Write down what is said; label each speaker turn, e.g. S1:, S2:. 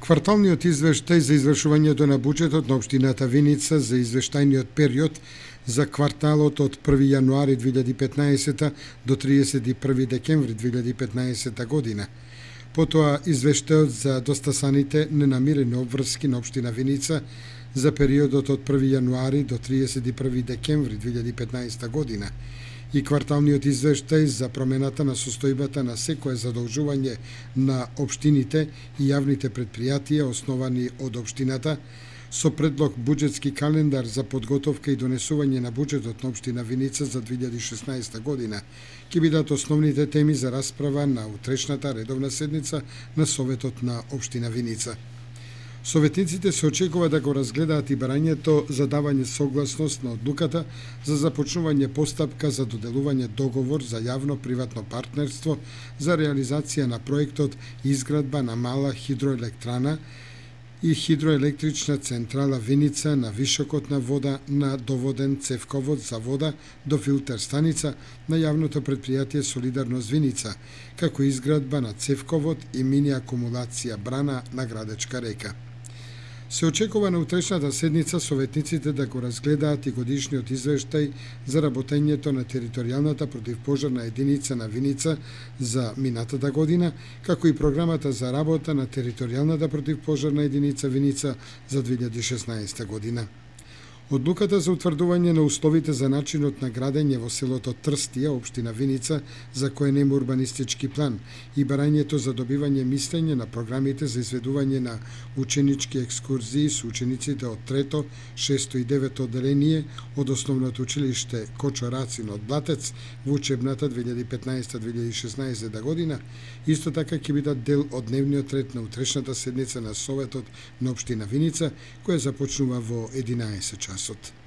S1: Кварталниот извештај за извршувањето на буџетот на општината Виница за извештајниот период за кварталот од 1 јануари 2015 до 31 декември 2015 година. Потоа извештајот за достасаните ненамирени обврски на општина Виница за периодот од 1 јануари до 31 декември 2015 година и кварталниот извештај за промената на состојбата на секое задолжување на општините и јавните предпријатија основани од општината, со предлог буџетски календар за подготовка и донесување на буџетот на општина Виница за 2016 година, ќе бидат основните теми за расправа на утрешната редовна седница на Советот на општина Виница. Советниците се очекува да го разгледаат и барањето за давање согласност на одлуката за започнување постапка за доделување договор за јавно-приватно партнерство за реализација на проектот изградба на мала хидроелектрана и хидроелектрична централа Виница на вишокот на вода на доводен цевковод за вода до филтер станица на јавното предпријатие Солидарност Виница, како изградба на цевковод и мини акумулација брана на Градечка река. Се очекува на утрешната седница советниците да го разгледаат и годишниот извештај за работењето на територијалната противпожарна единица на Виница за минатата година, како и програмата за работа на територијалната противпожарна единица Виница за 2016 година. Одлуката за утврдување на условите за начинот на градење во селото Трстија, општина Виница, за кој нема урбанистички план, и барањето за добивање мислење на програмите за изведување на ученички екскурзии со учениците од 3, 6 и 9 одделение од основното училиште Кочо Рацин од Блатец во учебната 2015-2016 година, исто така ќе бидат дел од дневниот ред на утрешната седница на Советот на општина Виница, која започнува во 11 часот.